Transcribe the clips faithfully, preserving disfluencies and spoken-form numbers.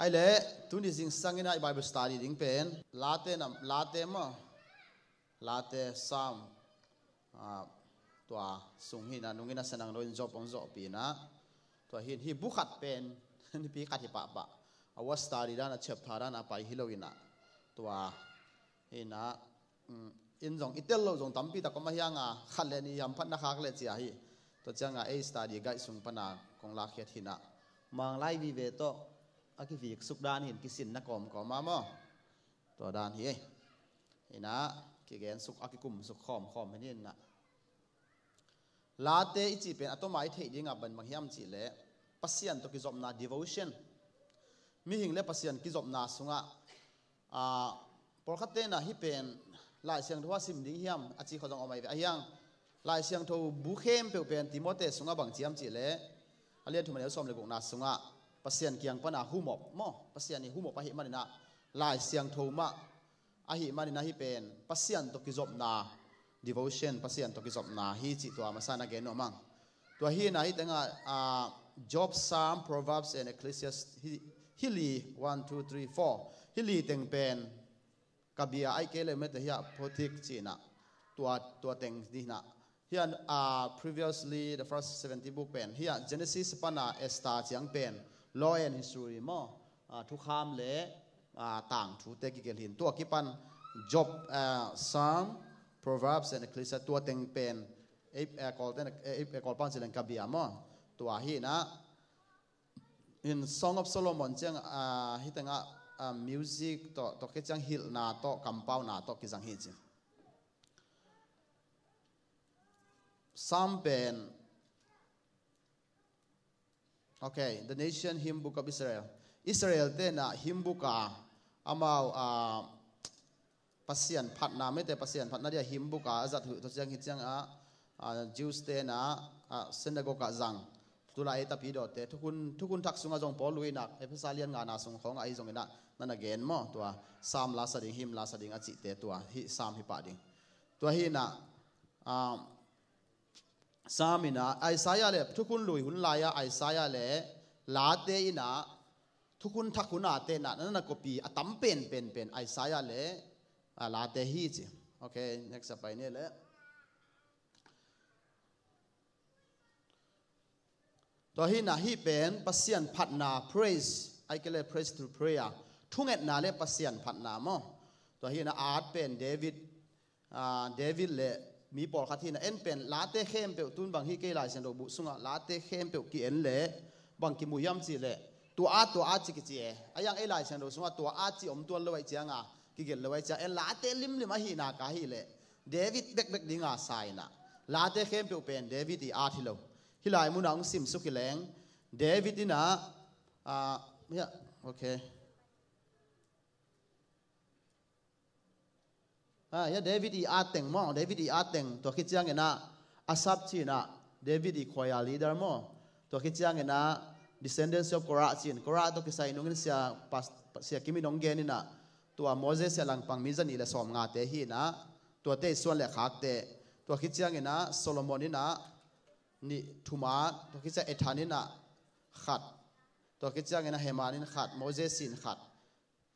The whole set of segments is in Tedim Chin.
Ai le, tuni zingsang in ah i Bible study ding pen Late na, Late maw, Late, Sam, ah, tua sung hi in ah, nungin a sanang lo in Job hong zawhpih in ah, tua hi in, hih bu khat pen nipi khat hi pahpah. A word study dan a chapter dan a pai hi lo in ah, tua hi in ah, mm, in zong i tel lo zong tampi tak om a hiang a, khat le nih hamphatna khak le cia hi. Tua ciang a ei study guide sung pan a kong lakkhiat hi in ah, Manglai vive tawh a kiviksuk dan hi in, kisinna kawmkawm a maw, tua dan hi. Hi in ah, kigensuk, a kikumsuk khawmkhawm hi in ah. Late i cih pen a tawm a i theih ding a bang bang hiam cih leh, Pasian tawh kizopna, devotion. Mihing le Pasian kizopna sungah, ah, pawlkhatte in ah hih pen Lai Siangtho a sim ding hiam a ci khawng zong om ahi ve. A hiang, Lai Siangtho bu khempeuh pen Timote sungah bang ci hiam cih leh, a lian thum a neu sawm le gukna sungah Pasian kiang pan a humop maw, Pasian i humop ahih man in ah Lai Siangtho mah ahih man in ah hih pen Pasian tawh kizopna, devotion, Pasian tawh kizopna hi cih tua masa in a gen nuam ing. Tua hi in ah hih teng ah, ah, Job, Psalm, Proverbs and Ecclesiastes, hih, hih li, one, two, three, four, hih li teng pen, ka bia ahih kei leh mete hiah, poetic ci in ah, tua, tua teng hi in ah. Hiah, ah, previously, the first seventy book pen, hiah Genesis pan a Esther ciang pen, law and history maw, ah, thukham le, ah, tangthute kigelh hi in. Tua kipan Job, ah, Psalm, Proverbs and Ecclesiastes, tua teng pen, eh, eh, Kawlte in, eh, eh, Kawlpa in ci leng ka bia maw, tua hi in ah. In Song of Solomon ciang, ah, hih teng ah, ah, music tawh, tua khit ciang hilhna tawh, kampauna tawh kizang hi ci. Psalm pen, okay, The Nation Hymn Book of Israel. Israel-te in ah hymn book a, amau, ah, Pasian phatna, mite Pasian phatna dia hymn book a a zat uh, tua ciang hih ciang a, ah, Jews-te in ah, ah, synagogue ah zang. Tulai ei tapidawte, thukhun, thukhun thak sungah zong Paul lui in ah, Efesa lian ngana sung khawng ah ahi zong in ah, na na gen maw, tua Psalm la sa ding, hymn la sa ding a cihte, tua hih Psalm hi pah ding. Tua hi in ah, ah, Psalm in ah, Isaiah le, thukhun lui hun lai-a Isaiah le Late in ah, thukhun thak hun a te in ah, na na copy a tam pen, pen, pen Isaiah le, ah, Late hi ci. Okay, next a pai ni le. Tua hi in ah hih pen Pasian phatna, praise, ahih kei leh praise through prayer. Thungetna le Pasian phatna maw. Tua hi in ah at pen David, ah, David le mi pawlkhat hi in ah, en pen Late khempeuh, tun bang hi kei Lai Siangtho bu sungah Late khempeuh ki-en le bang kimu hiam cih leh, tua at, tua at ci kici e. A hiang ei Lai Siangtho sungah tua at ci om tuan lo ahih ciang a, kigelh lo ahih ciang, en Late limlim ahihna ka hih leh David bekbek ding a sa in ah, Late khempeuh pen David i at hi lo. Hih lai mun ah hong simsuk hi leng, David in ah, ah, hiah, okay. Ah, hiah David i at teng maw, David i at teng, tua khit ciang in ah, Asaph ci in ah, David i choir leader maw. Tua khit ciang in ah, descendants of Korah ci in, Korah tawh kisai nungin sia, pas-, sia Kim in hong gen in ah, tua Moses sia langpang mi za nih le sawmngate hi in ah, tuate i suan le khakte. Tua khit ciang in ah, Solomon in ah, nih thum a, tua khit ciang Ethan in ah khat, tua khit ciang in ah Heman in khat, Moses in khat,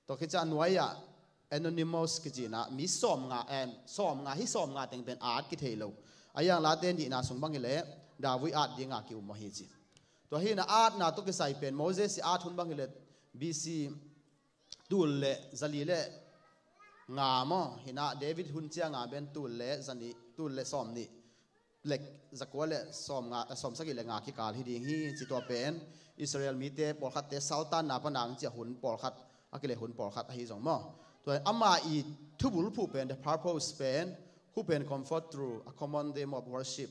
tua khit ciang nuai ah Anonymous kici in ah mi sawmnga, eh, sawmnga, hih sawmnga teng pen at kithei lo. A hiang Late nihna sung bang hi leh David at ding a ki-um ahi ci. Tua hi in ah atna tawh kisai pen Moses i at hun bang hi leh B C tul le zali le nga maw, hi in ah David hun ciang a pen tul le zanih, tul le sawmnih, le zakua le sawmnga, sawmsagih le nga kikal hi ding hi ci. Tua pen Israel mite pawlkhatte saltanna pan a hong ciah hun pawlkhat, a kile hun pawlkhat ahi zong maw. Tua ama i thubulphuh pen, the purpose pen, who can comfort through a common theme of worship.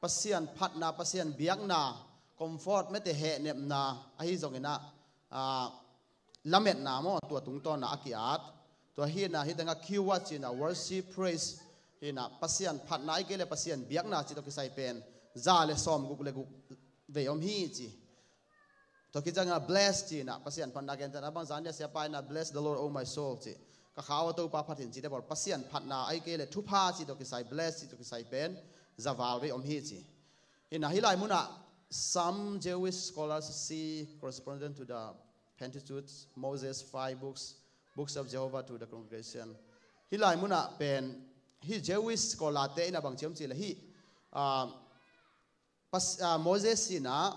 Pasian phatna, Pasian biakna, comfort, mete hehnepna ahi zong in ah, ah, lametna maw, tua tungtawn a a ki-at. Tua hi in ah, hih teng ah keyword ci in ah worship, praise, hi in ah Pasian phatna ahih kei leh Pasian biakna cih tawh kisai pen za le sawmguk le guk vei om hi ci. Tua khit ciang in ah bless ci in ah Pasian phatna gentehna bang zan ni a siapa in ah, "Bless the Lord, O my soul," ci. Ka kha aw Topa phat in cite bawl, Pasian phatna ahih kei leh thupha cih tawh kisai, bless cih tawh kisai pen za val vei om hi ci. Hi in ah hih lai mun ah some Jewish scholars see correspondent to the Pentateuch, Moses' five books, books of Jehovah to the congregation. Hih lai munah pen hih Jewish scholar-te in a bang ci hiam cih leh hih, ah, Pas- ah, Moses in a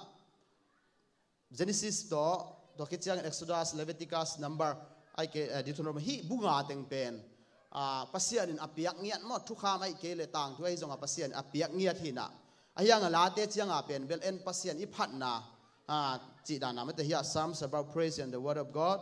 Genesis tawh, tua khit ciangin Exodus, Leviticus, Number, ahih kei, eh, Deuteronomy, hih bu nga teng pen, ah, Pasian in a piak ngiat maw, thukham ahih kei leh tangthu ahi zongah Pasian in a piak ngiat hi in a. Ahi hangah Late ciangah pen bel en Pasian i phatna, ah, cih dan a mate hiah, Psalms about praise and the word of God.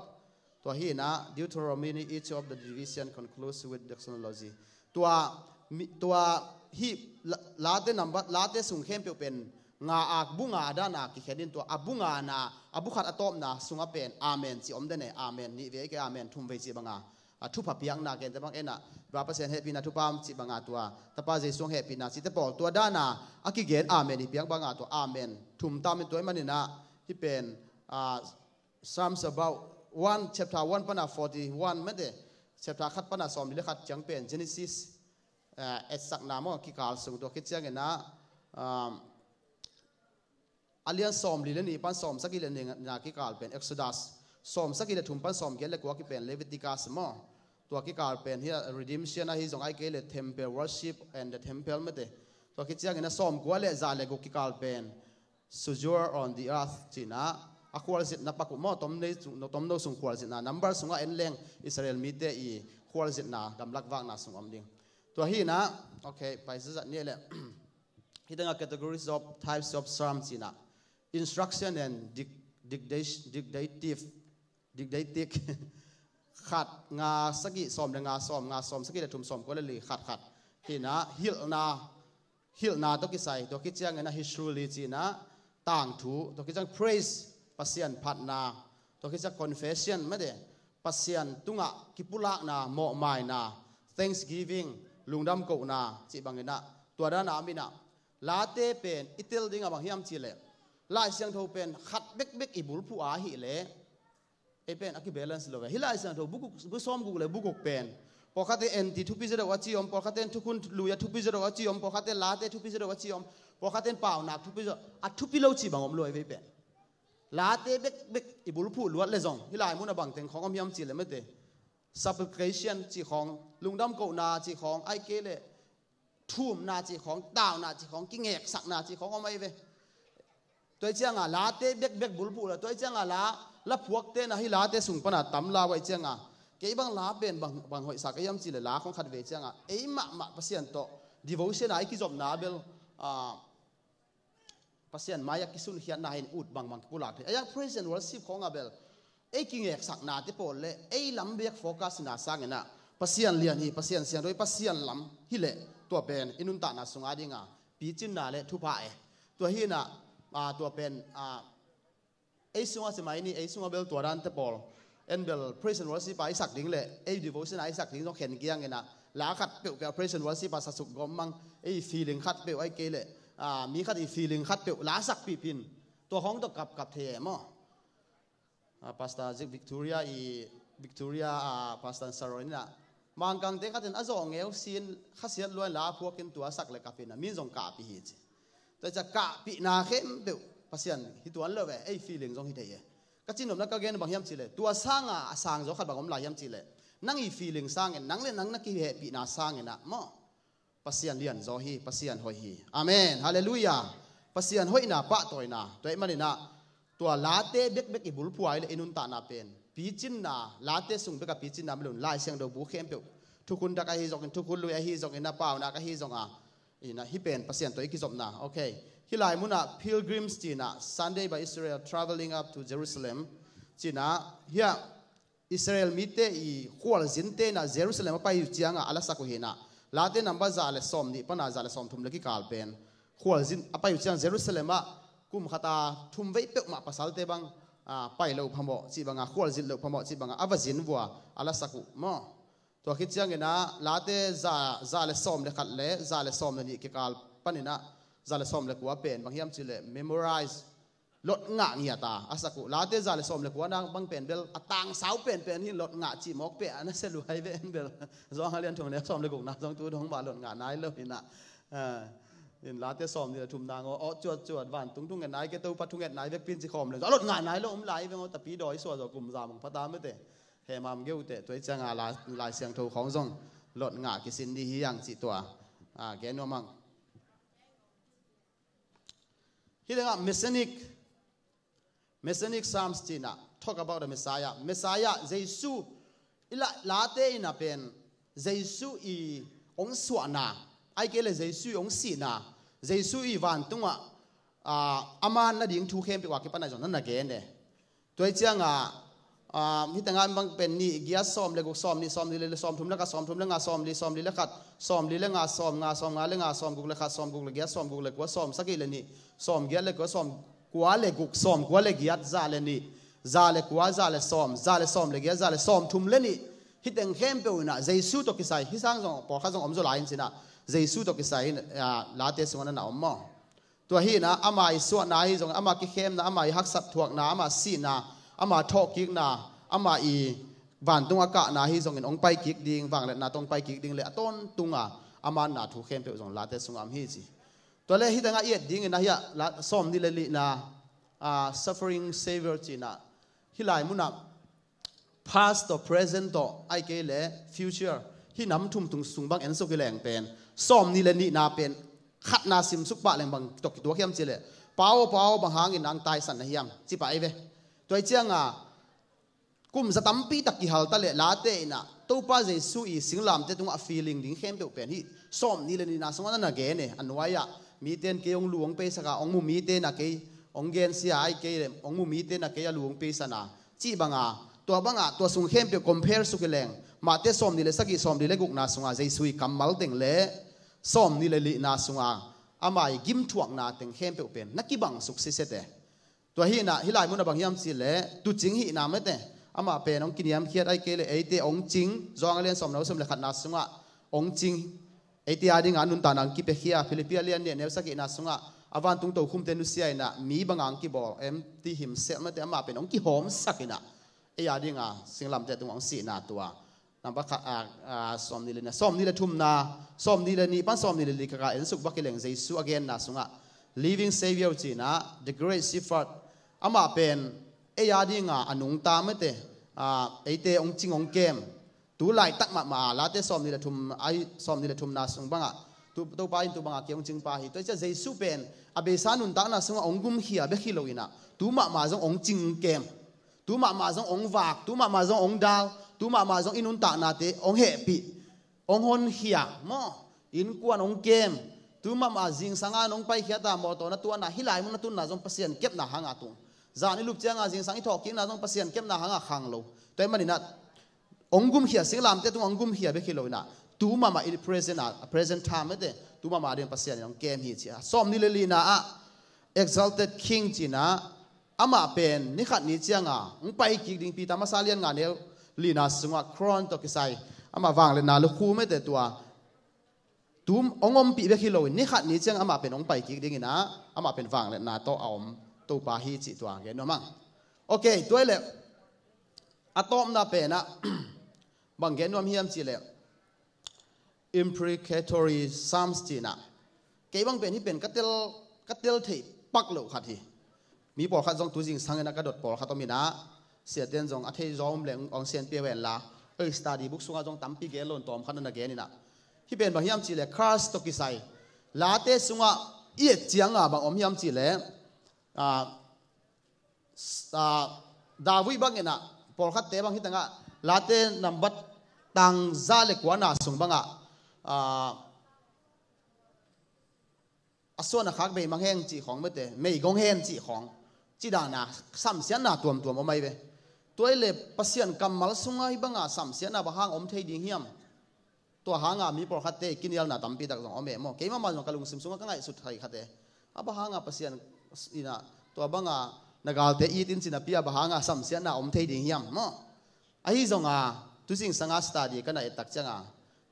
Tua hi in a, Deuteronomy, each of the division concludes with doxology. Tua, mi- tua hih la- Late number, Late sung khempeuh pen nga a, bu nga dan a kikhen in, tua a bu nga na, a bu khat a tawpna sungah pen amen ci om den e, amen nih vei, ahih kei leh amen thum vei cih bang a, a thupha piakna, gentehna bang en a, Baba Pasian hehpihna, Thupha cih bang a, tua Tapa Jesu hehpihna cihte pawl, tua dan a a kigen amen i piak bang a, tua amen thum tam in, tua ahih manin a hih pen, ah, Psalms about one, chapter one pan a forty-one mate, chapter khat pan a sawmli le khat ciang pen Genesis, eh, etsakna maw, kikal sung, tua khit ciangin a, um, a lian sawmli le nih pan sawmsagih le nihna kikal pen Exodus, sawmsagih le thum pan sawmgiat le kua kikal pen Leviticus maw, tua kikal pen hiah redemption ahi zong, ahih kei leh temple worship and the temple mate, tua khit ciangin a sawmkua le za le guk kikal pen sojourn on the earth ci in a, a khualzinna pak uh maw, tomno sung, tomno sung khualzinna, Number sungah en leng Israel mite i khualzinna, gamlak vakna sung om ding. Tua hi in a, okay, pai zazat ni leh. Hih tengah categories of types of psalm ci in a, instruction and dic- dictation, dictative, didactic, khat, nga, sagih, sawm le nga, sawm, nga, sawm, sagih le thum, sawmkua le li, khat, khat. Hi in a, hilhna, hilhna tawh kisai, tua khit ciangin a history ci in a, tangthu, tua khit ciang praise, Pasian phatna, tua khit ciang confession mate, Pasian tungah kipulakna, mawhmaina, thanksgiving, lungdam kohna cih bangin a, tua dan a om in a, Late pen i tel ding a bang hiam cih leh, Lai Siangtho pen khat bekbek i bulphuh a hih leh, ei pen a kibalance lo ve. Hih Lai Siangtho bu guk, bu sawmguk le bu guk pen, pawlkhat in NT thupi zaw deuh a ci om, pawlkhat in Thukhun Lui a thupi zaw deuh a ci om, pawlkhat in Late thupi zaw deuh a ci om, pawlkhat in Paunak thupi zaw, a thupi lo cih bang om lo ei vei pen. Late bekbek i bulphuh luat le zong, hih lai mun a bang teng khawng om hiam cih leh mate, supplication cih khawng, lungdam kohna cih khawng, ahih kei leh thumna cih khawng, tauna cih khawng, kingeksakna cih khawng om ahi ve. Tua hi ciangah Late bekbek bulphuh la, tua hi ciangah la, la phuakte na hih Late sung pana tam la uh ahi ciangah, kei bang la pen bang, bang hoihsa ka hiam cih leh la khawng khat vei ciangah, ei mahmah Pasian tawh devotion a i kizopna bel, ah, Pasian mai-ah kisunkhiatna hi in ut bangbang kipulak thei. Ahi hang praise and worship khawng a bel ei kingeksaknate pawl le ei lam bek focus na sangin ah, Pasian lian hi, Pasian siangtho hi, Pasian lam hi leh tua pen i nuntakna sung a dingah picinna le thupha e. Tua hi in ah, ah, tua pen, ah, ei sungah ci mai ni, ei sungah bel tua dante pawl en bel praise and worship a i sak ding le ei devotion a i sak ding zong khen kiang in ah, la khat peuhpeuh praise and worship a sa suk gawm mang, ei feeling khat peuh ahih kei leh, ah, mi khat i feeling khat peuh la sakpih pin, tua khawng tawh kapkap thei e maw? Ah, Pastor Zik Victoria i, Victoria, ah, Pastor Saron in ah, Mangkangte khat in a zawh ngeu sin khasiat lua in la a phuak in tua sak le kap in ah, min zong kapih hi ci. Tua hi ciah kapihna khempeuh Pasian hi tuan lo ve, ei feeling zong hi thei e. Ka cihnopna ka gen bang hiam cih leh, tua sanga a sangzaw khat bang om lai hiam cih leh, nang i feeling sangin nang le nang na kihehpihna sangin ah maw, Pasian lianzaw hi, Pasian hoih hi. Amen. Halleluiah. Pasian hoihna pahtawina. Tua ahih manin ah, tua late bekbek i bulphuh a i le i nuntakna pen picinna, late sung bek a picinna mah lo in, Lai Siangtho bu khempeuh, Thukhun Dak ahi zongin, Thukhun Lui ahi zongin, a Paunak ahi zong a, in ah hih pen Pasian tawh i kizopna. Okay. Hih lai mun ah pilgrims ci in ah, Sunday by Israel traveling up to Jerusalem ci in ah, hiah Israel mite i khualzinte in ah Jerusalem a pai uh ciangah a lasak uh hi in ah, Late number za le sawmnih pana za le sawmthum le kikal pen khualzin a pai uh ciang Jerusalem ah kum khat a thum vei peuhmah pasalte bang, ah, pai lo phamawh cih bangah, khualzin lo phamawh cih bangah a va zin vua a lasak uh maw? Tua khit ciangin ah Late za, za le sawm le khat le za le sawm le nih kikal panin ah za le sawm le kua pen bang hiam cih leh memorize, lot ngah ngiat a a sak uh. Late za le sawm le kua na bang pen bel a tangsau penpen hi in, lot ngah cih mawk peuh a na sia luai ve en bel. Zawng a lian thong le sawm le gukna zong tu dong mah lot ngah nai lo hi in ah. Ah, In Late sawmnih le thumna ngaw, aw cuatcuat, vantung thungetna i ke, Topa thungetna i vekpi in ci khawm le, a lot ngah nai lo om lai veng aw, tapi dawi sua zaw kum za mang pha ta mete. Hemam geu te, tua i cianga la, Lai Siangtho khawng zong lot ngah kisin di hi ang ci tua. A, gen nuam ang. Hi le ngah Messianic Messianic Psalms cina, talk about the Messiah. Messiah, Jesu, i la, Late ina pen, Jesu i ong suahna, ai kei le Jesu i ong sihna, Jesu i vantunga, a, a man na ding thu khempeuh a kipan a zong na na gen e. Tua i cianga, a, hita ngai bang pen nih, giat, sawm le guk, sawm nih, sawm nih le, le sawm thum le khat, sawm thum le nga, sawm li, sawm li le khat, sawm li le nga, sawm nga, sawm nga le nga, sawm guk le khat, sawm guk le giat, sawm guk le kua, sawm sagih le nih, sawm giat le kua, sawm kua le guk, sawm kua le giat, za le nih, za le kua, za le sawm, za le sawm le giat, za le sawm thum le nih. Hi teng khempeuh ina Jesu tawh kisai, hi sang zong pawlkhat zong om zaw lai in cina, Jesu tawh kisai in, a, Late sungah na na om maw? Tua hi ina, ama i suahna hi zong, ama kikhemna, ama i haksat thuakna, ama sihna, ama thawhkikna, ama i vantung a kahna hi zongin ong paikik ding, vangliatna tawh ong paikik ding le a tawntunga a manna thu khempeuh zong Late sungah om hi ci. Tua le hi tengah i et dingin ahi a, la, sawm nih le nihna, a, suffering Savior cina, hi lai munah past tawh, present tawh, ai kei le future, hi nam thum tung sung bang en suk hi leng pen, sawm nih le nihna pen khatna sim suk pah leng bang tawh kituak hiam ci le, Pau, Pau, bang hangin ang taisan na hiam ci pah ei ve. Tua i cianga kum za tampi tak kihal ta le Late ina Topa Jesu i singlamte tungah feeling ding khempeuh pen hi sawm nih le nihna sungah na na gen e. A nuai-ah mite in kei ong lu ong peisak a, ong mu mite in a kei ong gensia, ai kei le ong mu mite in a kei a lu ong peisan a, cih banga, tua banga, tua sung khempeuh compare suk hi leng, Mate sawm nih le sagih, sawm nih le gukna sunga Jesu i kammal teng le sawm nih le nihna sunga ama i gimthuakna teng khempeuh pen na kibang suk sisete. Tua hi ina, hi lai munah bang hiam ci le, tuucing hihna mete, amah pen ong kiniamkhiat ai kei le, eite ong cing, Johan a lian sawm neu sawm le khatna sungah ong cing, eite a dinga nuntakna ong kipiakhia, Philippi a lian nih neu sagihna sungah a vantung tokhumte nusia ina mi banga ong kibawl em ti himselh mete, amah pen ong kihawmsak ina ei a dinga singlamte tungah ong sihna tua. Nambat khat, a, a, sawm nih le nihna, sawm nih le thumna, sawm nih le nih pan sawm nih le li kaka en suk bak hi leng Jesu a genna sungah Living Savior cina, the Great Shepherd, amah pen ei a dinga a nungta mete, a, eite ong cing ong kem. Tu laitak mahmah a, Late sawm nih le thum, ai, sawm nih le thumna sung bangah, tu, Topa in tu bangah kei ong cingpa hi. Tua i cia Jesu pen a beisa nuntakna sungah ong gumkhia bek hi lo ina, tu mahmah zong ong cing ong kem. Tu mahmah zong ong vak, tu mahmah zong ong dal, tu mahmah zong i nuntaknate ong hehpih, ong honkhia maw, innkuan ong kem. Tu mahmah zingsanga nong paikhiata mawtaw na tuana, hi lai mun na tunna zong Pasian kepna hanga tung. Zan i lup cianga zingsang i thawhkikna zong Pasian kepna hanga khang lo. Tua i maninah ong gumkhia, singlamte tungah ong gumkhia bek hi lo ina, tu mahmah i present a, present time mete, tu mahmah ding Pasian in ong kem hi ci a. Sawm nih le lina ah exalted king cina, amah pen ni khat ni cianga ong pai kik ding, Peter masa lian nga neu lina sungah crown tawh kisai, amah vangliatna lukhu mete tua, tu ong ompih bek hi loin ni khat ni ciang amah pen ong pai kik dingin ah, amah pen vangliatna tawh a om Topa hi cih tua gen nuam ang. Ok, tua i leh a tawpna penah bang gen nuam hiam cih leh imprecatory psalms cihna. Kei bang pen hih pen ka tel, ka tel theih pak loh khat hi. Mi pawlkhat zong tu zingsangin a ka dot pawlkhat om inah, siaten zong a thei zaw om leng ong sian pia ven la, ei study book sungah zong tampi gen lo in tawm khat na na gen inah. Hih pen bang hiam cih leh curse tawh kisai, Late sungah i et cianga bang om hiam cih leh, ah, ah, David bang inah, pawlkhatte bang hih tangah Late nambat tang za le kuana sung bangah, ah, a suan a khak bei mang heng cih khawng mete, meigong hen cih khawng, cidana samsiatna tuamtuam om ai ve. Tua i leh Pasian kammal sungah hih banga samsiatna bang hang om thei ding hiam? Tua hanga mi pawlkhatte i kinialna tampi tak zong om e maw. Keimah mah zong ka lungsim sungah ka ngaihsut thei khat e. A bang hanga Pasian inah tua banga na galte it in cina pia, bang hanga samsiatna om thei ding hiam maw? Ahi zonga tu zingsanga study ka na ettak cianga,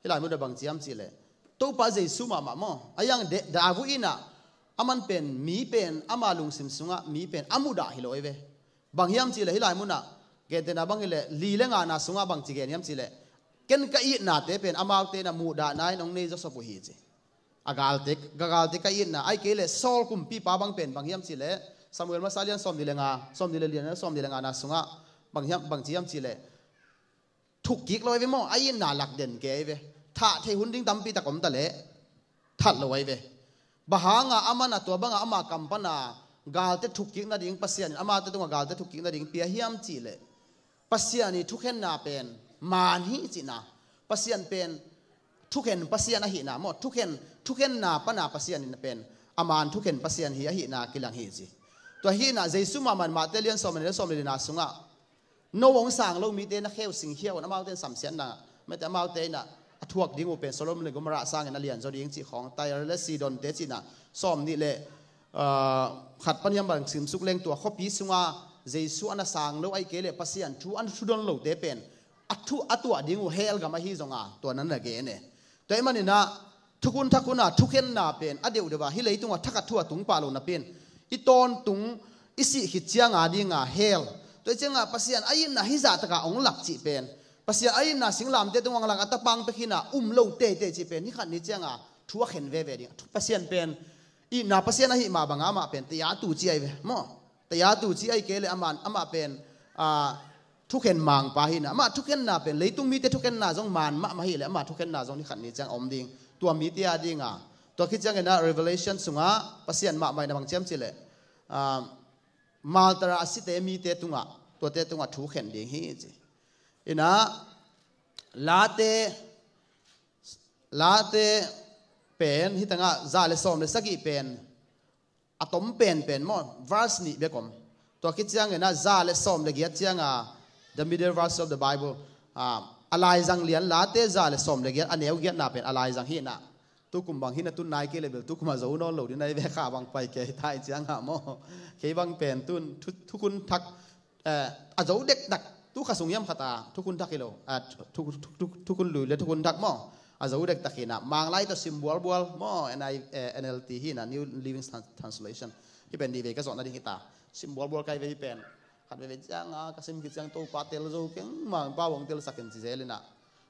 hih lai mun a bang ci hiam cih leh Topa Jesu mahmah maw. A yang David inah, aman pen mi pen ama lungsim sungah mi pen a muhdah hi lo ei ve. Bang hiam cih leh hih lai munah gentehna bang hi leh li le ngana sungah bang ci gen hiam cih leh, ken ka itnate pen amaute na muhdahna in ong nei zawsop uh hi ci. A galte, a galte ka itna, ahih kei leh Saul kumpipa bang pen bang hiam cih leh, Samuel masa lian sawmnih le nga, sawmnih le lian, sawmnih le nga na sungah bang hiam, bang ci hiam cih leh, thukkik lo ahi ve maw, a itna lak den kei ahi ve. Thah theih hun ding tampi tak om ta leh that lo ahi ve. Bang hanga aman a tua banga ama kam pana galte thukkik nading, Pasian in amaute tungah galte thukkik nading pia hiam cih leh, Pasian i thukhenna pen maan hi cihna. Pasian pen thukhen Pasian ahihna maw, thukhen, thukhenna pana Pasian in pen a maan thukhen Pasian hi ahihna kilang hi ci. Tua hihna Jesu mahmah in Mate lian sawm le sawm le lina sungah, no hong sang lo mite na kheu sing khia un, amaute in samsiatna, mete amaute in a thuak ding uh pen Sodom le Gomorrah sangin a lian zaw ding cih khawng, Tyre le Sidon te cihna, sawmnih le, ah, khat pan hiam bang simsuk leng tua khuapi sunga Jesu a na sang lo ahih kei leh Pasian thu a na thudon lote pen a thu a tuah ding uh hell gam ahi zonga tua na na gen e. Tua ahih maninah thukhun thak huna thukhenna pen a deuhdeuh a, hih leitungah thakhat thu a tung pah lo napi-in i tawntung i sih khit cianga dinga hell. Tua ahih cianga Pasian a itna hih zahtaka hong lak cih pen, Pasian a itna singlamteh tungah hong lak a, tapang pek hina um lo teitei cih pen hih khat ni cianga thu a khen veve ding. Pasian pen itna Pasian ahih mah banga amah pen tayatu ci ahi ve maw. Tayatu ci ahih kei leh amah, amah pen, ah, thukhen mangpa hina. Amah thukhenna pen leitung mite thukhenna zong maan mahmah hi leh amah thukhenna zong ni khat ni ciang om ding. Tua mite a dinga, tua khit ciangin ah Revelation sungah Pasian mahmah in a bang ci hiam cih leh, ah, martyr a site mite tungah, tuate tungah thu khen ding hi ci. Inah Late, Late pen hih tangah za le sawm le sagih pen a tom penpen maw, verse nih bek om. Tua khit ciangin ah za le sawm le giat cianga, the middle verse of the Bible, ah, a laizang lian Late za le sawm le giat, a neu giatna pen a laizang hi inah. Tukum bang hi na tun nai kei le bel tukum a zo nawn lo ding nai ve, kha bang pai kei tai cianga maw. Kei bang pen tun thu, thukhun thak, eh, a zo dektak, tu kha sung hiam khat a thukhun thak hi lo, ah, thu, thu, thu, thu, thukhun lui le thukhun thak maw. A zo dektak hi inah, Manglai tawh sim bualbual maw, N I, eh, N L T hi inah, New Living Trans-, Translation. Hih pen nih vei ka zawhna ding hi ta. Sim bualbual kai ve hih pen. Khat veve cianga ka sim khit ciang Topa tel zo keng, Mangpa hong telsak in ci zel inah.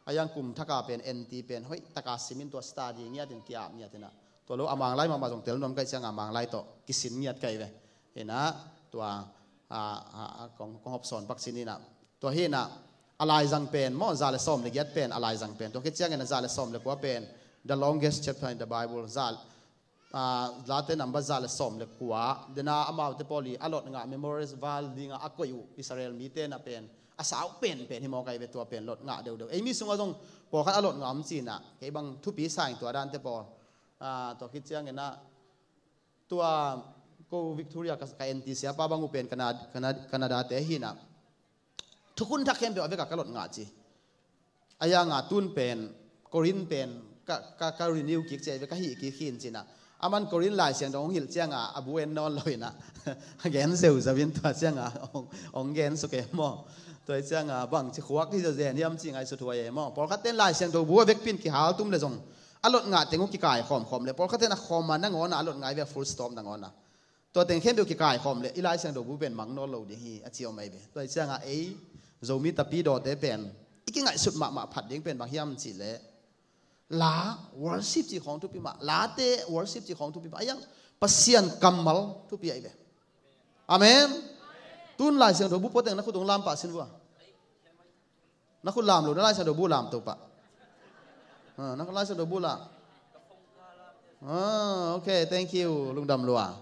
A hiang kum thaka pen N T pen hoih taka sim in tua study ngiatin ki-ap ngiat inah. Tua lo a Manglai mahmah zong tel nuam kai cianga Manglai tawh kisin ngiat kai ve. Inah tua, a, a, a, kong, kong hop sawn pak sin inah. Tua hi inah a laizang pen maw, za le sawm le giat pen a laizang pen. Tua khit ciangin a za le sawm le kua pen the longest chapter in the Bible. Za, ah, Late number za le sawm le kua. Dena amaute pawl i a lot ngah memorial wall dinga a koih uh Israel mite na pen a sau penpen hi mawk ahi ve, tua pen lot ngah deuhdeuh. Ei mi sungah zong pawlkhat a lot ngah om ci inah, kei bang thupi sa ing tua dante pawl. Ah, tua khit ciangin ah tua ko Victoria ka, ka N T siapa bang uh pen Canada, Canada, Canada te hi inah. Thukhun thak khempeuh a vekah ka lot ngah ci. A hianga tun pen, Korin pen, ka, ka, ka renew kik ci ahi ve, ka hih kik hi in ci inah. Aman Korin Lai Siangtho hong hilh cianga a bu en nawn lo inah. A gen zeuzeu in tua cianga hong, hong gen suk e maw. Tua hi cianga bang ci khuak hi zeuzen hiam ci ngaihsut huai e maw. Pawlkhat ten Lai Siangtho bu a vekpi in kihal tum le zong a lot ngah teng uh kikai khawmkhawm le, pawlkhat ten a khawm a nangawn a a lot ngah hi ve, full stop nangawn a. Tua teng khempeuh kikai khawm le i Lai Siangtho bu pen mang nawn lo ding hi a ci om ahi ve. Tua hi cianga ei Zomi Tapidawte pen i kingaihsut mahmah phat ding pen bang hiam cih leh, la worship cih khawng thupi mah, Late worship cih khawng thupi mah. A hiang Pasian kammal thupi ahi ve. Amen. Tun Lai Siangtho bu pua teng na khut hong lam pah sin vua. Na khut lam lo, na Lai Siangtho bu lam to pah. Ah, na Lai Siangtho bu lam. Ah, okay, thank you. Lungdam lua.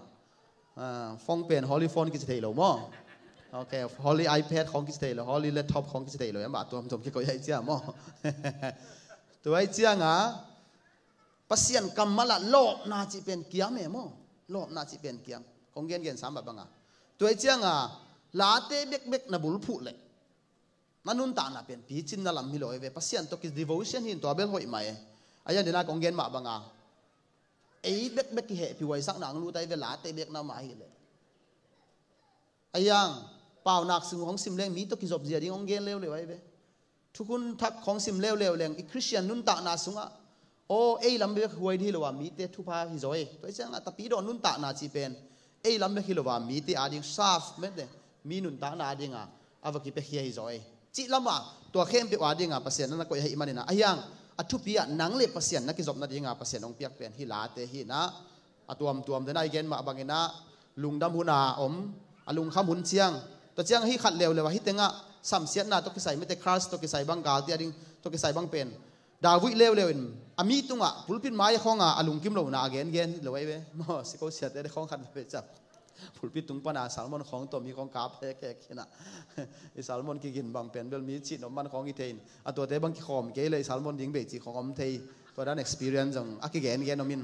Ah, phone pen holy phone kici thei lo maw. Okay, holy iPad khawng kici thei lo, holy laptop khawng kici thei lo. Em, a tuamtuam kikoih ahi cia maw. Tua ahi cianga Pasian kammal ah lawpna cih pen kiam e maw. Lawpna cih pen kiam. Kong gengen sam bangah. Tua ahi cianga Late bekbek na bulphuh leh na nuntakna pen picinna lam hi lo e ve. Pasian tawh ki devotion hi in tua bel hoih mah e. A hiang dena kong gen mah banga ei bekbek kihehpih huaisakna ang lut ahi ve, Late bek na mah hi leh. A hiang paunak sung hong sim leng mi tawh kizop zia ding hong gen leuleu ahi ve. Thukhun thak hong sim leuleu leng i Christian nuntakna sungah aw, ei lam bek huai hi lo a mite thupha hi zaw e. Tua hi ciangah Tapidaw nuntakna cih pen ei lam bek hi lo a mite ading saf mete, mi nuntakna adinga a va kipiakhia hi zaw e. Cih lama tua khempeuh adinga Pasian na na koih ahi maninah a hiang A thupi ah nang le Pasian na kizopna dinga Pasian hong piak pen hih late hi inah, a tuamtuam te na i gen mah bangin ah lungdam hun a om, a lungkham hun ciang, tua ciang hih khat leuleu ah hih tengah samsiatna tawh kisai, mete crush tawh kisai bang, galte a ding tawh kisai bang pen David leuleu in a mi tungah pulpit mai khawngah a lungkim lohna a gengen hi lo ei ve. Maw, si ko siate khawng khat ve cap. Pulpit tung pana sermon khawng tawh mi khawng kap hekek hi inah, i sermon kigin bang pen bel mi cih nop man khawng hi thei in, a tuate bang kikhawm kei le i sermon ding bei cih khawng om thei. Tua dan experience zong a kigengen om in,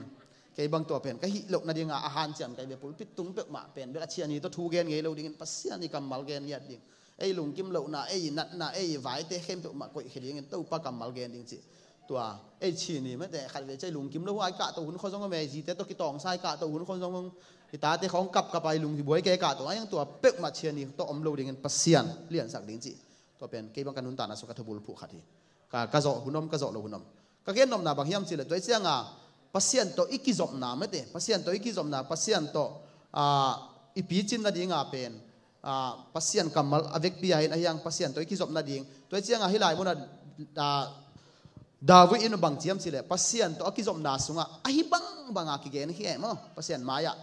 kei bang tua pen ka hih lohna dinga a hanciam ka hi ve. Pulpit tung peuhmah pen bel a ciani tawh thu gen ngei lo dingin Pasian i kammal gen ngiat ding, ei lungkim lohna, ei natna, ei vaite khempeuh mah koihkhia dingin Topa kammal gen ding cih. Tua ei ciani mete khat ve ciang lungkim lo a i kahto hun khawng zong om e, zite tawh kitawngsa i kahto hun khawng zong om, i tate khawng kapkap a i lung hi buai kei kahto a, tua peuhmah ciani tawh om lo dingin Pasian liansak ding cih. Tua pen kei bang ka nuntakna sung ka thubulphuh khat hi. Ka, ka zawh hun om, ka zawh loh hun om. Ka gen nopna bang hiam cih leh tua i cianga Pasian tawh i kizopna mete, Pasian tawh i kizopna, Pasian tawh, ah, i picin nadinga pen, ah, Pasian kammal a vekpi a hin a hiang Pasian tawh i kizop nading. Tua i cianga hih lai munah, ah, David in bang ci hiam cih leh Pasian tawh a kizopna sungah ahi bangbanga kigen hi e maw, Pasian mai-ah.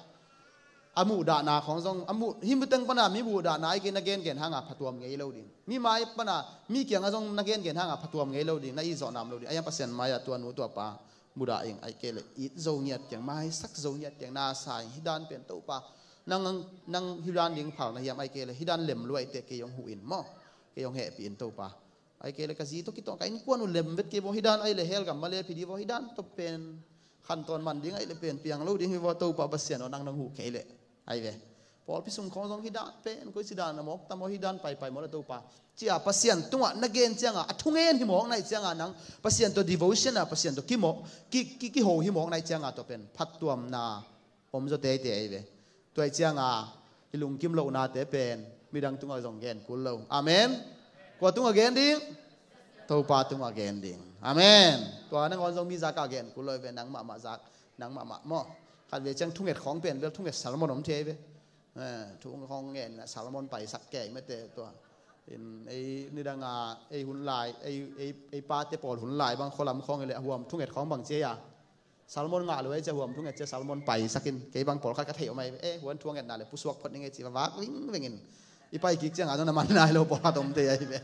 A muhdahna khawng zong, a muh, hih muteng pana mi muhdahna ai kei na gengen hanga phatuam ngei lo ding. Mi mai pana, mi kiangah zong na gengen hanga phatuam ngei lo ding, na i zawh nam lo ding. A hiang Pasian mai-ah tua nu tua pa mudah ing, ai kei le it zo ngiat keng, maisak zo ngiat keng, na sa ing, hih dan pen Topa, nang, nang hih dan ding phal na hiam, ai kei le hih dan lem luai te kei hong huh in maw, kei hong hehpih in Topa. Ai kei le ka zi tawh kitawng ka innkuan uh lem vet kei vaw, hih dan ai le hell gam mah le phi di vaw, hih dan tawh pen khantawn man ding ai le pen piang lo ding hi vaw, Topa Pasian aw, nang nang huh kei le. Ai ve. Pawlpi sung khawng zong hih dan pen koi si dan a mawk tam aw, hih dan paipai maw le Topa. Cia Pasian tungah na gen cianga, a thungen hi mawk nai cianga nang Pasian tawh devotion a, Pasian tawh kimawh, ki, ki, kiho hi mawk nai cianga tua pen phattuamna om zaw teitei ai ve. Tua i cianga i lungkim lohnate pen midang tungah zong gen kul lo. Amen. Kua tungah gen ding? Topa tungah gen ding. Amen. Tua nangawn zong mi zakah gen kul lo ai ve, nang mahmah zak, nang mahmah maw. Khat ve ciang thunget khawng pen bel thunget sermon om thei ai ve. Eh, thu khawng ngen inah sermon paisak kei mete tua. In ei nidanga ei hun lai, ei, ei, ei pate pawl hun lai bang khualam khawng i le a huam thunget khawng bang cia. Sermon ngah lo ei cia huam thunget cia sermon paisakin kei bang pawlkhat ka theih om ai. Eh, huan thungetna le pusuak phot ning ei ci vavak vingvengin. I pai kik cianga zong na man nai lo pawlkhat om thei ai ve.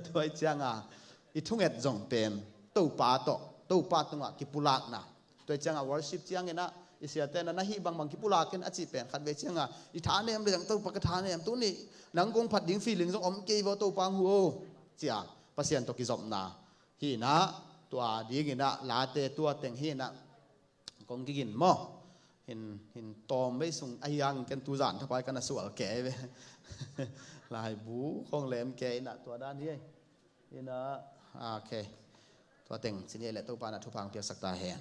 Tua i cianga i thunget zong pen Topa tawh, Topa tungah kipulakna. Tua i cianga worship cianginah i siate na na hih bangbang kipulakin a cih pen khat ve cianga i thanem le zang Topa ka thanem, tuni nang kong phat ding feeling zong om kei vaw Topa ang hu o. Cia Pasian tawh kizopna hi inah, tua dinginah late tua teng hi inah kong kigin maw. Hin, hin tawm vei sung a hiang ken tuzan thapai kana sual kei ve. Laibu kong lem kei inah tua dan hi. Inah, ah, okay. Tua teng cini le Topa na thupha ang piaksak ta hen.